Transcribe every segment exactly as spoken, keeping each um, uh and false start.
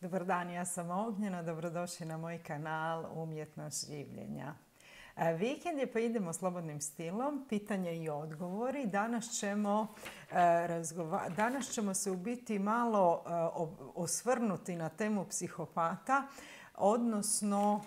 Dobar dan, ja sam Ognjena, dobrodošli na moj kanal Umjetnost življenja. Vikend je pa idemo slobodnim stilom, pitanje i odgovori. Danas ćemo, razgova... Danas ćemo se u biti malo osvrnuti na temu psihopata, odnosno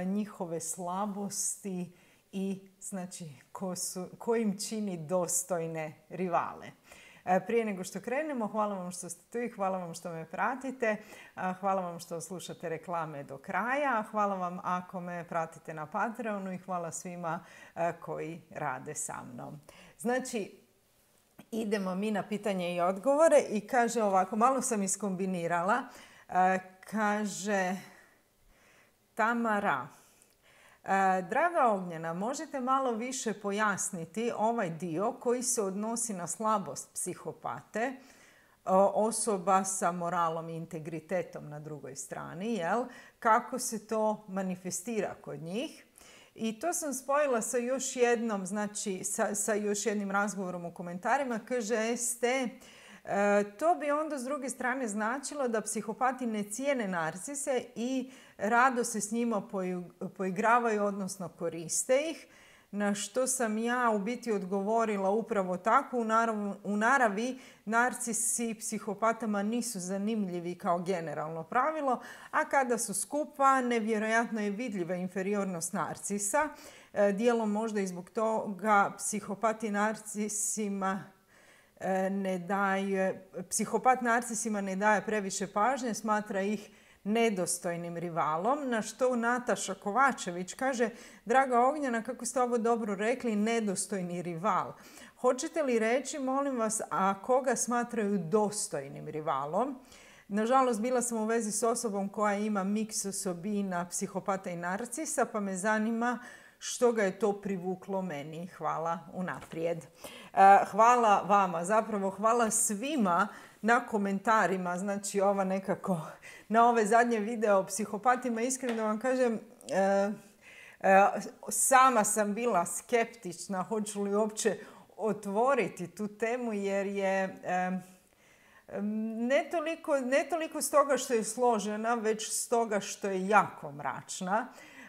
njihove slabosti i znači ko, su, ko im čini dostojne rivale. Prije nego što krenemo, hvala vam što ste tu i hvala vam što me pratite. Hvala vam što slušate reklame do kraja. Hvala vam ako me pratite na Patreonu i hvala svima koji rade sa mnom. Znači, idemo mi na pitanje i odgovore i kaže ovako, malo sam iskombinirala. Kaže Tamara. Draga Ognjena, možete malo više pojasniti ovaj dio koji se odnosi na slabost psihopate, osoba sa moralom i integritetom na drugoj strani, jel? Kako se to manifestira kod njih? I to sam spojila sa još jednom, znači sa, sa još jednim razgovorom u komentarima. Kaže S T, E, to bi onda s druge strane značilo da psihopati ne cijene narcise i rado se s njima poigravaju, odnosno koriste ih. Na što sam ja u biti odgovorila upravo tako. U naravi, u naravi narcisi psihopatama nisu zanimljivi kao generalno pravilo, a kada su skupa nevjerojatno je vidljiva inferiornost narcisa. E, dijelom možda i zbog toga psihopati narcisima ne daje, psihopat narcisima ne daje previše pažnje, smatra ih nedostojnim rivalom, na što Nataša Kovačević kaže, draga Ognjena, kako ste ovo dobro rekli, nedostojni rival. Hoćete li reći, molim vas, a koga smatraju dostojnim rivalom? Nažalost, bila sam u vezi s osobom koja ima miks osobina psihopata i narcisa, pa me zanima što ga je to privuklo meni. Hvala unaprijed. Hvala vama, zapravo hvala svima na komentarima, znači ova nekako, na ove zadnje video o psihopatima. Iskreno vam kažem, sama sam bila skeptična hoću li uopće otvoriti tu temu jer je ne toliko, ne toliko stoga što je složena, već stoga što je jako mračna.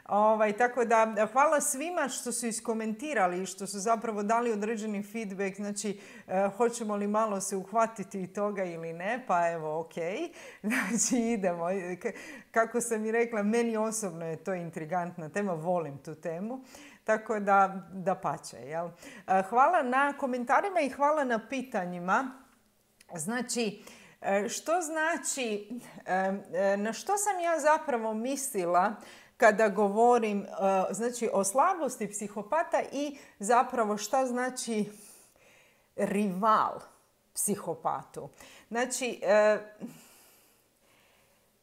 Ovaj, tako da hvala svima što su iskomentirali i što su zapravo dali određeni feedback, znači e, hoćemo li malo se uhvatiti toga ili ne, pa evo ok, znači idemo. Kako sam i rekla, meni osobno je to intrigantna tema, volim tu temu, tako da, da pače. Jel? Hvala na komentarima i hvala na pitanjima. Znači, što znači, na što sam ja zapravo mislila kada govorim znači, o slabosti psihopata i zapravo šta znači rival psihopatu. Znači, e,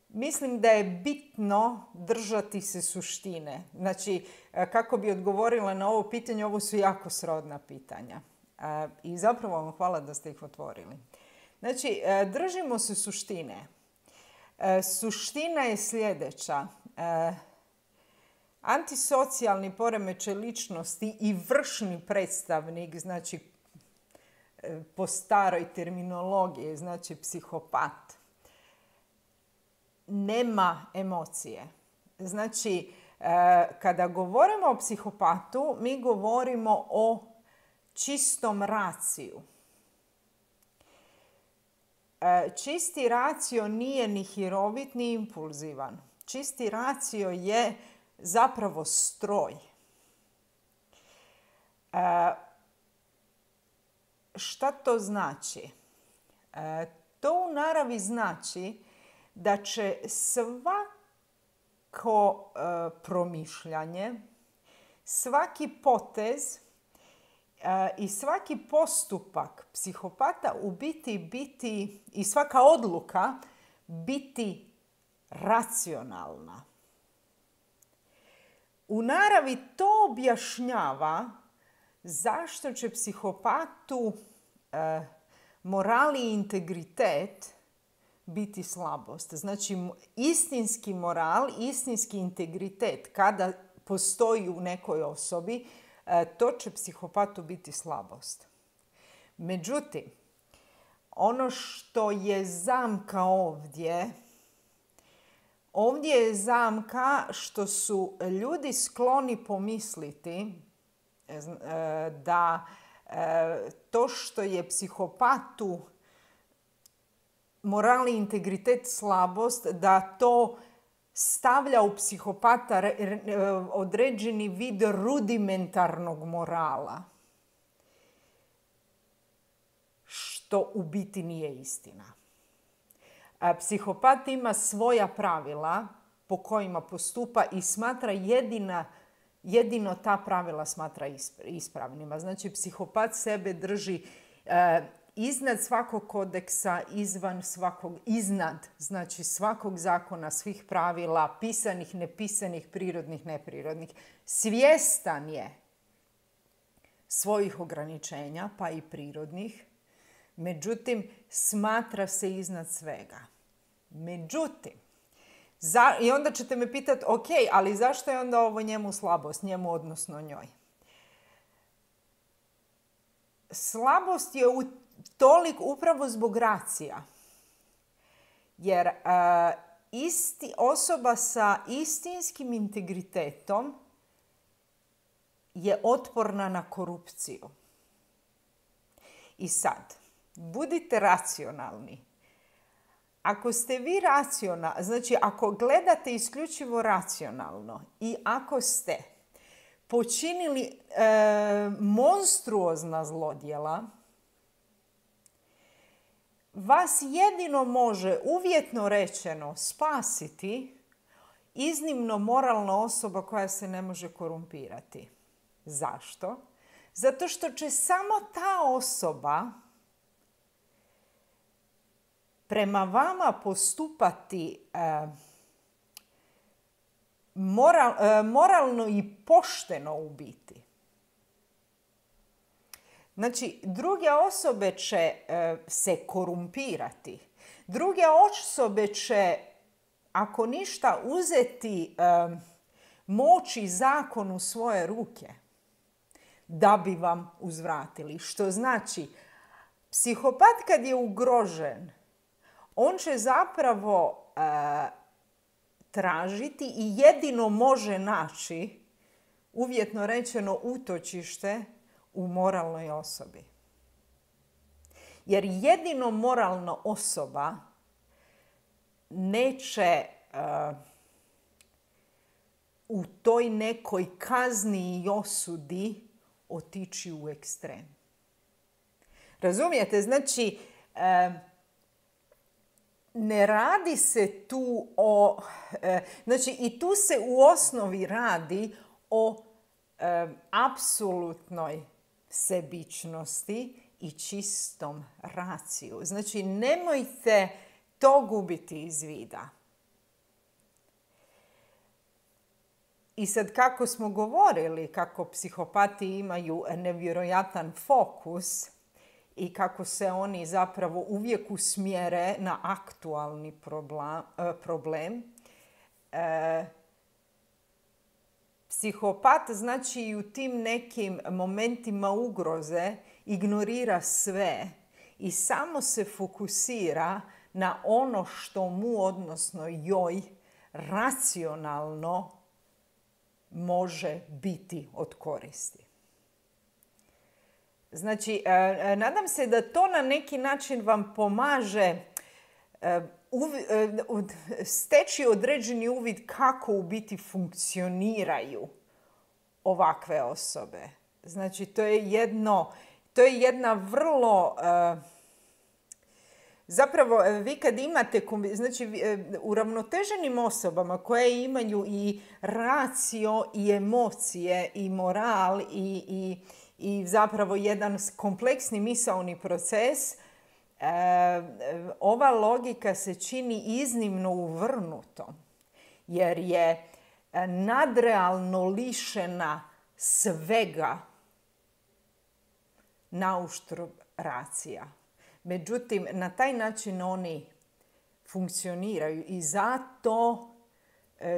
mislim da je bitno držati se suštine. Znači, kako bi odgovorila na ovo pitanje, ovo su jako srodna pitanja. E, I zapravo vam hvala da ste ih otvorili. Znači, e, držimo se suštine. E, suština je sljedeća. E, Antisocijalni poremećaj ličnosti i vršni predstavnik, znači po staroj terminologiji, znači psihopat, nema emocije. Znači, kada govorimo o psihopatu, mi govorimo o čistom raciju. Čisti racio nije ni hirovit, ni impulzivan. Čisti racio je zapravo stroj. E, šta to znači? E, to u naravi znači da će svako e, promišljanje, svaki potez e, i svaki postupak psihopata u biti biti i svaka odluka biti racionalna. U naravi to objašnjava zašto će psihopatu e, moral i integritet biti slabost. Znači, istinski moral, istinski integritet, kada postoji u nekoj osobi, e, to će psihopatu biti slabost. Međutim, ono što je zamka ovdje Ovdje je zamka što su ljudi skloni pomisliti da to što je psihopatu moral i integritet slabost, da to stavlja u psihopata određeni vid rudimentarnog morala. Što u biti nije istina. Psihopat ima svoja pravila po kojima postupa i smatra jedina, jedino ta pravila smatra ispravnima. Znači, psihopat sebe drži eh, iznad svakog kodeksa, izvan svakog, iznad, znači svakog zakona, svih pravila, pisanih, nepisanih, prirodnih, neprirodnih. Svjestan je svojih ograničenja, pa i prirodnih, međutim, smatra se iznad svega. Međutim, za, i onda ćete me pitati, ok, ali zašto je onda ovo njemu slabost, njemu odnosno njoj? Slabost je u tolik upravo zbog racija. Jer uh, isti, osoba sa istinskim integritetom je otporna na korupciju. I sad, budite racionalni. Ako ste vi racionalni, znači ako gledate isključivo racionalno i ako ste počinili e, monstruozna zlodjela, vas jedino može, uvjetno rečeno, spasiti iznimno moralna osoba koja se ne može korumpirati. Zašto? Zato što će samo ta osoba prema vama postupati e, moral, e, moralno i pošteno u biti. Znači, druge osobe će e, se korumpirati. Druge osobe će, ako ništa, uzeti e, moć i zakon u svoje ruke da bi vam uzvratili. Što znači, psihopat kad je ugrožen, on će zapravo e, tražiti i jedino može naći, uvjetno rečeno, utočište u moralnoj osobi. Jer jedino moralna osoba neće uh, u toj nekoj kazni i osudi otići u ekstrem. Razumijete? Znači, uh, ne radi se tu o... Uh, znači, i tu se u osnovi radi o uh, apsolutnoj sebičnosti i čistom raciju. Znači, nemojte to gubiti iz vida. I sad, kako smo govorili, kako psihopati imaju nevjerojatan fokus i kako se oni zapravo uvijek usmjere na aktualni problem, problem e, psihopat, znači, i u tim nekim momentima ugroze ignorira sve i samo se fokusira na ono što mu, odnosno joj, racionalno može biti od koristi. Znači, nadam se da to na neki način vam pomaže steći određeni uvid kako u biti funkcioniraju ovakve osobe. Znači, to je jedno, to je jedna vrlo... Zapravo, vi kad imate, znači, uravnoteženim osobama koje imaju i racio i emocije i moral i, i, i zapravo jedan kompleksni misaoni proces, ova logika se čini iznimno uvrnutom, jer je nadrealno lišena svega nauštrb racija. Međutim, na taj način oni funkcioniraju i zato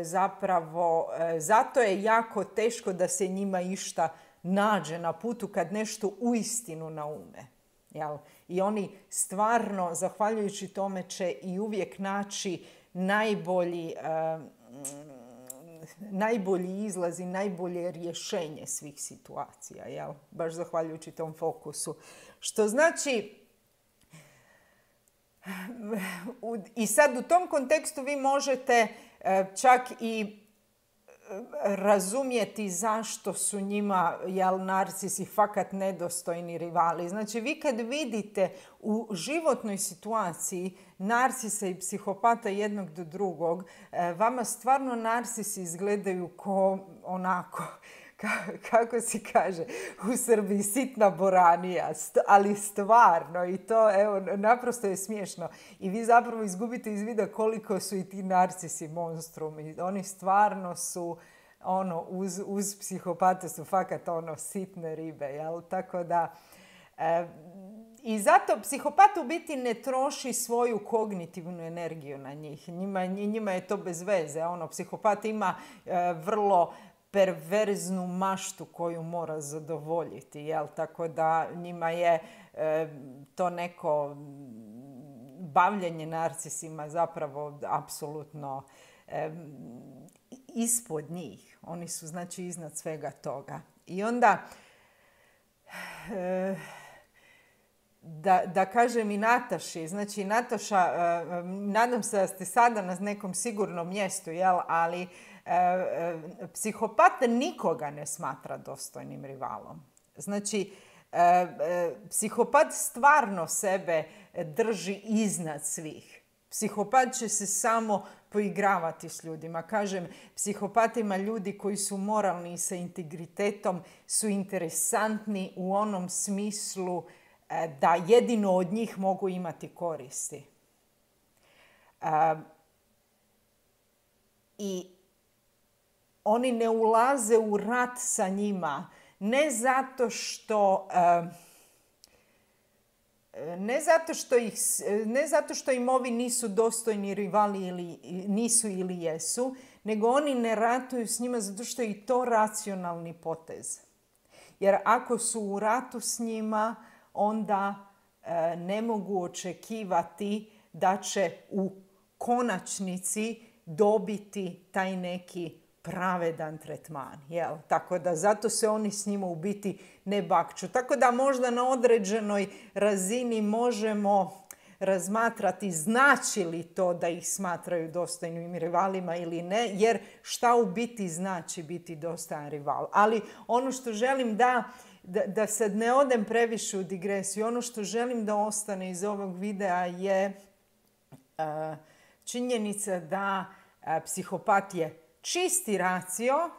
zapravo, zato je jako teško da se njima išta nađe na putu kad nešto uistinu naume. Jel? I oni stvarno, zahvaljujući tome, će i uvijek naći najbolji, uh, najbolji izlaz i najbolje rješenje svih situacija, jel? Baš zahvaljujući tom fokusu. Što znači, i sad u tom kontekstu vi možete čak i razumjeti zašto su njima, jel, narcisi fakat nedostojni rivali. Znači, vi kad vidite u životnoj situaciji narcisa i psihopata jednog do drugog, vama stvarno narcisi izgledaju ko onako, kako se kaže u Srbiji, sitna boranija, ali stvarno, i to, evo, naprosto je smiješno. I vi zapravo izgubite iz vida koliko su i ti narcisi monstrumi. Oni stvarno su, ono, uz, uz psihopate su fakat, ono, sitne ribe, jel? Tako da, e, i zato psihopat u biti ne troši svoju kognitivnu energiju na njih. Njima, njima je to bez veze. Ono, psihopat ima e, vrlo perverznu maštu koju mora zadovoljiti, jel? Tako da njima je e, to neko bavljenje narcisima zapravo apsolutno e, ispod njih. Oni su, znači, iznad svega toga. I onda, e, da, da kažem i Nataši, znači Nataša, e, nadam se da ste sada na nekom sigurnom mjestu, jel? Ali E, e, psihopat nikoga ne smatra dostojnim rivalom. Znači, e, e, psihopat stvarno sebe drži iznad svih. Psihopat će se samo poigravati s ljudima. Kažem, psihopatima ljudi koji su moralni i sa integritetom su interesantni u onom smislu e, da jedino od njih mogu imati koristi. E, I oni ne ulaze u rat sa njima, ne zato što, ne zato što, ih, ne zato što im ovi nisu dostojni rivali ili nisu ili jesu, nego oni ne ratuju s njima zato što je i to racionalni potez. Jer ako su u ratu s njima, onda ne mogu očekivati da će u konačnici dobiti taj neki pravedan tretman, jel? Tako da zato se oni s njima u biti ne bakću. Tako da možda na određenoj razini možemo razmatrati znači li to da ih smatraju dostojnim rivalima ili ne, jer šta u biti znači biti dostojan rival. Ali ono što želim da, da, da sad ne odem previše u digresiju, ono što želim da ostane iz ovog videa je uh, činjenica da uh, psihopat je čisti racio,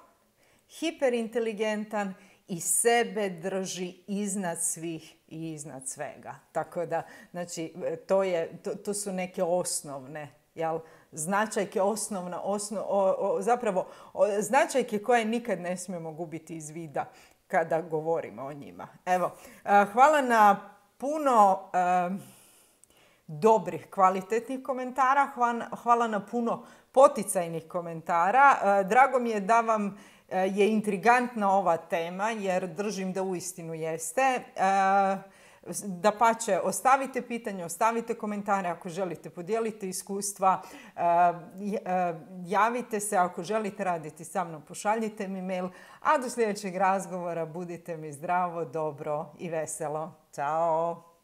hiperinteligentan i sebe drži iznad svih i iznad svega. Tako da, znači, to, je, to, to su neke osnovne, jel, značajke, osnovna, osnov, o, o, zapravo o, značajke koje nikad ne smijemo gubiti iz vida kada govorimo o njima. Evo, hvala na puno um, dobrih, kvalitetnih komentara, hvala, hvala na puno poticajnih komentara. Drago mi je da vam je intrigantna ova tema, jer držim da uistinu jeste. Dapače, ostavite pitanje, ostavite komentare ako želite, podijelite iskustva, javite se ako želite raditi sa mnom, pošaljite mi mail, a do sljedećeg razgovora budite mi zdravo, dobro i veselo. Ćao!